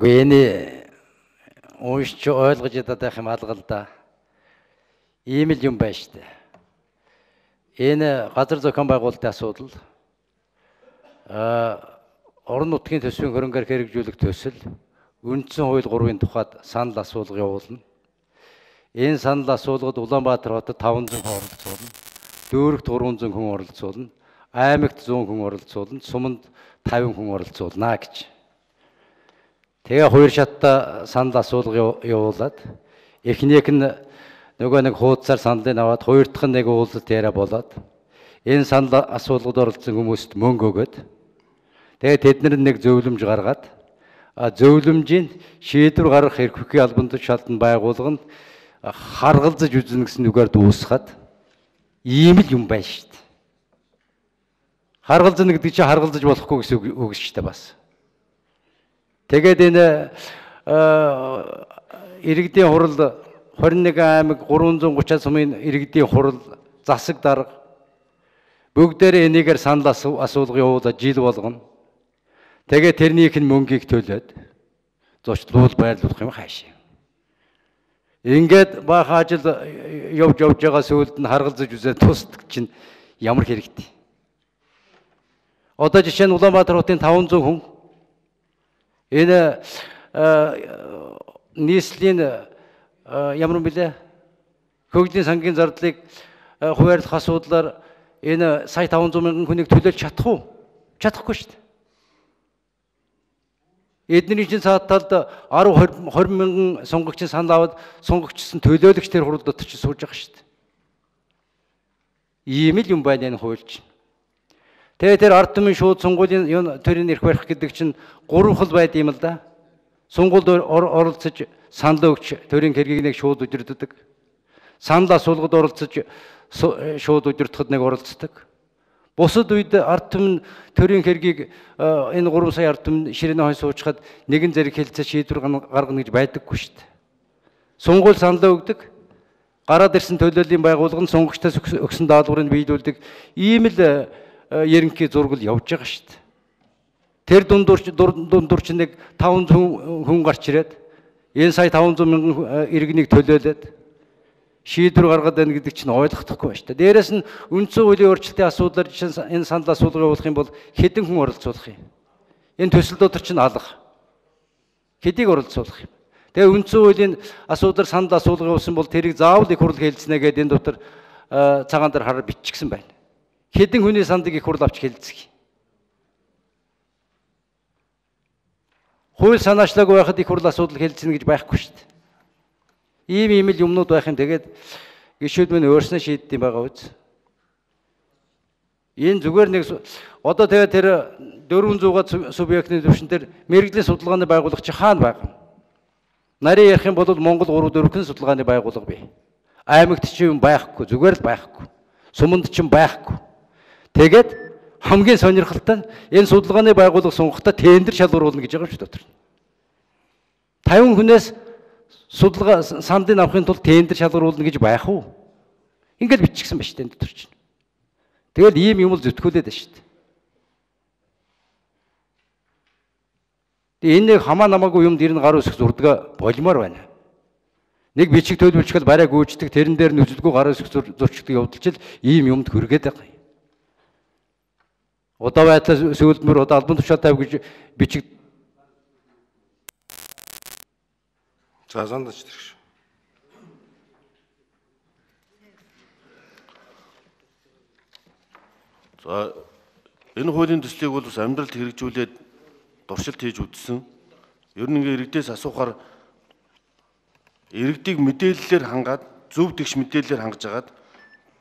Энийг уншиж ойлгож ядаад юм алга л да. Ийм л юм байна шүү дээ. Энэ газар зохион байгуулалтын асуудал, орон нутгийн төсвийн хөрөнгөөр хэрэгжүүлэх төсөл, үндсэн хууль 3-ын тухайд санал асуулга явуулна. Энэ санал асуулгад Улаанбаатар хотод 500 хүн оролцуулна, Дөөрөгт 300 хүн оролцуулна, Аймагт 100 хүн оролцуулна, Суманд 50 хүн оролцуулна гэж. Тэгээ хоёр шаттай санал асуулга явуулаад эхнийх нь нөгөө нэг хуудасаар саналыг аваад хоёр дахь нь нэг уулзалт яриа болоод энэ санал асуулгад оролцсон хүмүүст мөнгө өгөөд тэгээ тэднэр нэг зөвлөмж гаргаад зөвлөмжийн шийдвэр гаргах эрхлэхийн албан тушаалтанд байгуулганд харгалзаж үзнэ гэсэн үгээр дуусгаад ийм л юм байна шүү дээ. Харгалзана гэдэг чинь харгалзаж болохгүй гэсэн үг шүү дээ бас. Тэгээд энэ иргэдийн хурал 21 аймаг 330 сумын иргэдийн хурал засаг дарга бүгдээрээ энийгээр санал асуулга явуулаад жил болгоно. Тэгээд тэрнийх нь мөнгийг төлөөд зочлуул байрлуулах юм хаашаа. Ингээд баахан ажил явж байгаа сүүлд нь харгалзаж үзээд тусдаг чинь ямар хэрэгтэй. Одоо жишээ нь Улаанбаатар хотын 500 хүн энэ нийслэлийн ямар юм бэлээ? Хөгжлийн сангийн зардлыг хуваарлах асуудлаар энэ сая 500 мянган хүнийг төлөөлж чадах уу? Чадахгүй шүү дээ. Эдний чинь цаад талд 10-20 мянган сонгогчийн санал аваад сонгогчсон төлөөлөгч тэр хурал дотор ч сууж байгаа шүү дээ. Ийм л юм байна энэ хуульч. Тэгээ тэр ард түмэн шууд сонгуулийн төрийн эрх барих гэдэг чинь 3 хэл байд юм л да. Сонгуульд оролцож санал өгч төрийн хэргийг шууд удирддаг. Санал асуулгад оролцож шууд удирдахад нэг оролцдог. Бусад үед ард түмэн төрийн хэргийг энэ 3 сая ард түмэн ширээнэ хойш суучхад нэгэн зэрэг хэлцээ шийдвэр гаргана гэж байдаггүй шүү дээ. Сонгуул санал өгдөг. Гараад ирсэн төлөөллийн байгууллага нь сонгогчдоос өгсөн даалгаврыг биелүүлдэг. Ийм л ерөнхий зургал явж байгаа шүү дээ. Тэр дундуур чинь нэг 500 хүн гарч ирээд энэ сая 500 мянган иргэнийг төлөөлөөд шийдвэр гаргаад байна гэдэг чинь ойлгохдохгүй байна шүү дээ. Дээрээс нь үндсэн хуулийн өөрчлөлтийн асуудлаар жишээ энэ санал асуулга явуулах юм бол хэдэн хүн оролцуулах юм? Энэ төсөл дотор чинь алга. Хэдийг оролцуулах юм? Тэгээ үндсэн хуулийн асуудлаар санал асуулга явуулсан бол тэрийг заавал их хурл хэлцэнэ гэдэг энэ дотор цагаан дээр хараа биччихсэн байна. Хэдэн хүний сандыг их хурл авч хэлцэх. Хууль санаачлаагүй байхад их хурл асуудал хэлцэнэ гэж байхгүй шүү дээ. Ийм л юмнууд байх юм. Тэгээд гишүүд минь өөрснөө шийддэм байгаа үз. Энэ зүгээр нэг одоо тэгээд тэр 400-аад субъектны төвшин дээр мэрэгжлийн судалгааны байгууллага чи хаана байгаа юм? Нарийн ярих юм бол Монгол 3-4 судалгааны байгууллага бий. Аймагт чи юм байхгүй, зүгээр л байхгүй. Суманд ч юм байхгүй. Тэгээд хамгийн сонирхолтой нь энэ судалгааны байгууллага сунгахтаа тендер шалгуулна гэж байгаа юм шүү дотор. 50 хүнээс судалгаа сандыг авахын тулд тендер шалгуулна гэж байх уу? Ингээд биччихсэн ба шүү дээ дотор чинь. Тэгэл ийм юм л зүтгүүлээд байна шүү дээ. Тэгээ энэ хамаа намаагүй юмд ирнэ гар үсэх зурдаг болмоор байна. Нэг бичиг төлөвлөчгөл барай гүйждэг, тэрэн дээр нь үзэлгүй гар үсэх зурчдаг явдалчил ийм юмд хүргээд байгаа юм. Удаа байдлаа сүйдмөр удаа албан тушаал тавь гэж бичиг. За зандаж тэрш. За энэ хуулийн төслийг бол бас амьдралд хэрэгжүүлээд дуршилт хийж үзсэн. Ер нь ингээ иргэдээс асуухаар иргэдийг мэдээллээр хангаад зөв тэгш мэдээллээр хангаж агаад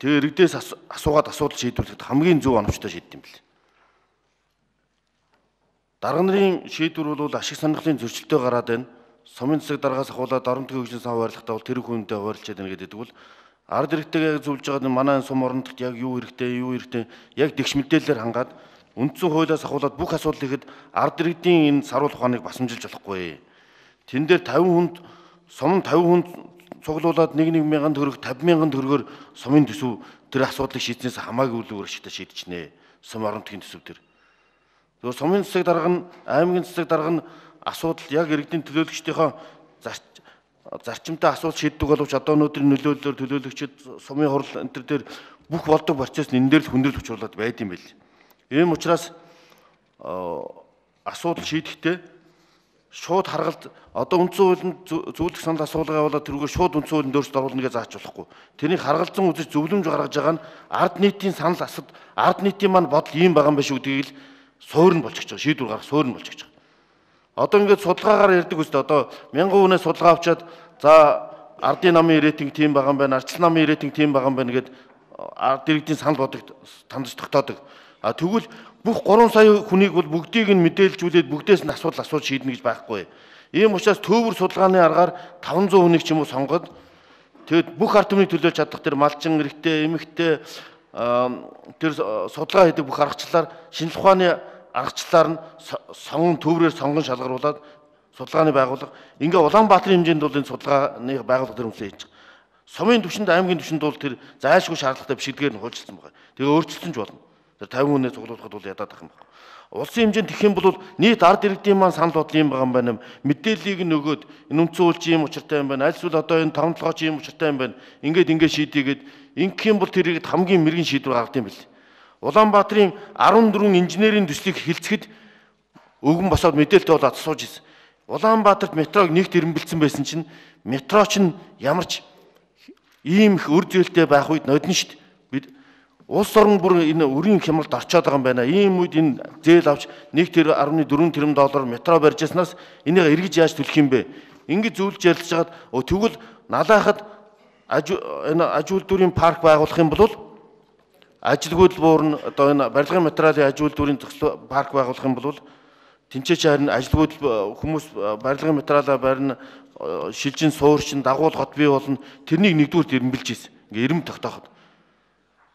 тэгээ иргэдээс асуугаад асуудал шийдвэрлэхэд хамгийн зөв оновчтой шийддэг юм бэл. Дарга нарын шийдвэр бол ашиг сонирхлын зөрчилтэй гараад байна. Сумын засаг даргаас ахуулаад орон төгөөгийн хөгжлийн сан хуваарлахтаа бол тэр хүнтэй хуваарлчаад байна гэдэг бол ард иргэдтэйгээ зөвлөж байгаа манай сум орондогт яг юу хэрэгтэй яг тэгш мэдээллээр хангаад үндсэн хуулиас ахуулаад бүх асуудал ихэд ард иргэдийн энэ саруул ухааныг басамжилж болохгүй. Тэн дээр 50 хүнд сум 50 хүнд цуглуулад 1-1 төгрөг 50 мянган төгрөгөөр сумын төсөв тэр асуудлыг шийдснээс хамаагүй үл өгөр шигтэй шийдчихнэ. Сум орон төгөөгийн төсөв төр. Тэгээ сумын засаг дарга нь аймгийн засаг дарга нь асуудал яг иргэдийн төлөөлөгчдийнхөө зарчимтай асуудал шийддэг боловч одоо өнөөдрийн нөлөөллөөр төлөөлөгчид сумын хурал энэ төр дээр бүх болдог процесс энэ дээр л хүндрэл учруулад байд юм байл. Ийм учраас асуудал шийдэхдээ шууд харгалт одоо үндсэн хуулийн зөвлөх санал асуулга явуулаад тэрүүгээр шууд үндсэн хуулийн дөөрчд оруулна гэж зааж болохгүй. Тэрийг харгалзан үзэж зөвлөмж гаргаж байгаа нь ард нийтийн санал асууд ард нийтийн маань бодол ийм байгаа юм биш үү гэдгийг л суурь нь болж гэж байгаа. Шийдвэр гаргах суурь нь болж гэж байгаа. Одоо ингээд судалгаагаар ярьдаг үстэй одоо 1000 хүнээс судалгаа авчаад за ардын намын рейтинг тийм байгаа юм байна, арчлан намын рейтинг тийм байгаа юм байна гэд ард иргэдийн санал бодлого тандж тогтоодог. А тэгвэл бүх 3 сая хүнийг бол бүгдийг нь мэдээлжүүлээд бүгдээс нь асуудал шийднэ гэж байхгүй. Ийм учраас төвөр судалгааны аргаар 500 хүнийг ч юм уу сонгоод тэгэд бүх ард түмнийг төлөөлж чадах тэр малчин эрэгтэй, эмэгтэй тэр судалгаа хийдэг бүх аргачлалаар шинжлэх ухааны аргачлалаар нь төврээр сонгон шалгаруулад судалгааны байгууллага ингээ Улаанбаатарын хэмжээнд бол энэ судалгааны байгууллага төр хүмүүсээ хийж байгаа. Сумын түвшинд аймгийн түвшинд бол тэр зайлшгүй шаардлагатай бишгэлгээр нь хуульчилсан байгаа. Тэгээ өөрчлөлтөн ч болно. Тэр 50 хүнээ цуглуулахад бол ядаад ах юм байна. Улсын хэмжээнд тэгэх юм бол нийт ард иргэдийн маань санал бодол юм байгаа юм байна. Мэдээллийг нь өгөөд энэ үндсэн хууль чи юм учиртай юм байна. Аль эсвэл одоо энэ 5 толгой чи юм учиртай юм байна. Ингээд шийдийгээд ингэх юм бол тэрийг хамгийн мэрэгэн шийдвэр гаргад юм бэл. Улаанбаатарын 14 инженерийн төслийг хэлцэхэд өвгөн босоод мэдээлэлтэй болоод асууж ирсэн. Улаанбаатарт метрог нэгт ирэмбэлсэн байсан чинь метро чинь ямарч ийм их үр зээлтэй байх үед нодно шүү дээ. Бид улс орн бүр энэ өрийн хямралд орчоод байгаа юм байна. Ийм үед энэ зээл авч 1.4 тэрбум доллар метро барьж яснаас энийг эргэж яаж төлөх юм бэ? Ингэж зөвлөж ярилцж хагаад тэгвэл налайхад энэ аж үйлдвэрийн парк байгуулах юм бол ажилгүйдэл буурна одоо энэ барилгын материалын аж үйлдвэрийн зохицол парк байгуулах юм бол тэнцээч харин ажилгүйдэл хүмүүс барилгын материалаа барина шилжин суурчин дагуул хот бий болно. Тэрнийг нэгдүгээр ирэмбэлж ийсэн. Ингээ ирэм тогтооход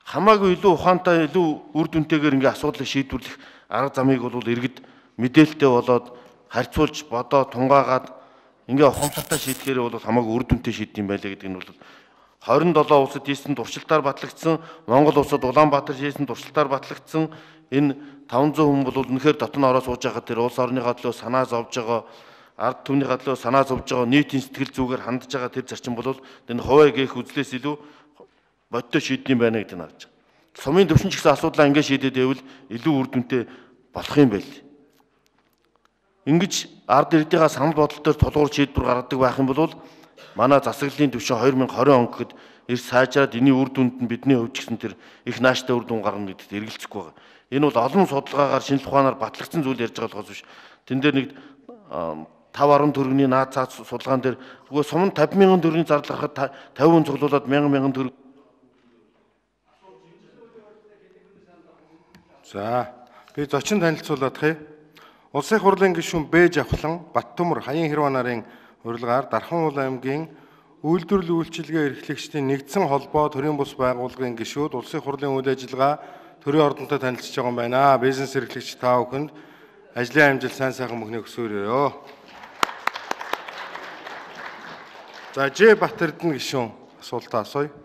хамаагүй илүү ухаантай илүү үр дүнтэйгээр ингээ асуудлыг шийдвэрлэх арга замыг бол иргэд мэдээлэлтэй болоод харьцуулж бодоод тунгаагаад ингээ ухамсартай шийдэхээр бол хамаагүй үр дүнтэй шийдэв юм байлаа гэдэг нь бол 27 улсад хийсэн туршилтаар батлагдсан, Монгол улсад Улаанбаатар хийсэн туршилтаар батлагдсан энэ 500 хүн бол үнэхээр дотн ороо сууж байхад тэр улс орныхаа төлөө санаа зовж байгаа, ард түмнийхаа төлөө санаа зовж байгаа, нийтийн сэтгэл зүгээр хандж байгаа тэр зарчим бол энэ хуваа гээх үзлээс илүү бодтой шийдэх юм байна гэдэг нь харж байгаа. Сумын төвшин ч гэсэн асуудлаа ингэ шийдээд байвал илүү үр дүнтэй болох юм байл. Ингэж ард иргэдийнхаа санал бодол дээр тулгуур шийдвэр гаргадаг байх юм бол манай засаглалын түвшин 2020 он гэхэд эрс сайжраад энэний үр дүнд нь бидний хувьд ч гэсэн тэр их нааштай үр дүн гарна гэдэгт эргэлзэхгүй байгаа. Энэ бол олон судалгаагаар шинжлэх ухаанаар батлагдсан зүйл ярьж байгаа болохоос биш. Тэн дээр нэг 5-10 төгрөгийн наад цаад судалгаан дээр зүгээр сум 50,000 төгрөгийн зардал гарахад 50 хүн цуглуулад 1,000 төгрөг. За би зочин танилцуулах юм. Улсын хурлын гишүүн Б Жавхлан Баттөмөр Хаян Хэрваа нарын урилгаар Дархан уул аймгийн үйлдвэрлэл үйлчилгээ эрхлэгчдийн нэгдсэн холбоо төрийн бус байгууллагын гишүүд улсын хурлын үйл ажиллагаа төрийн ордонтой танилцж байгаа юм байна. Бизнес эрхлэгч та бүхэнд ажлын амжилт сайн сайхан мөхнийг хүсвэрээ. За Ж Батэрдэн гишүүн асуултаа асууя.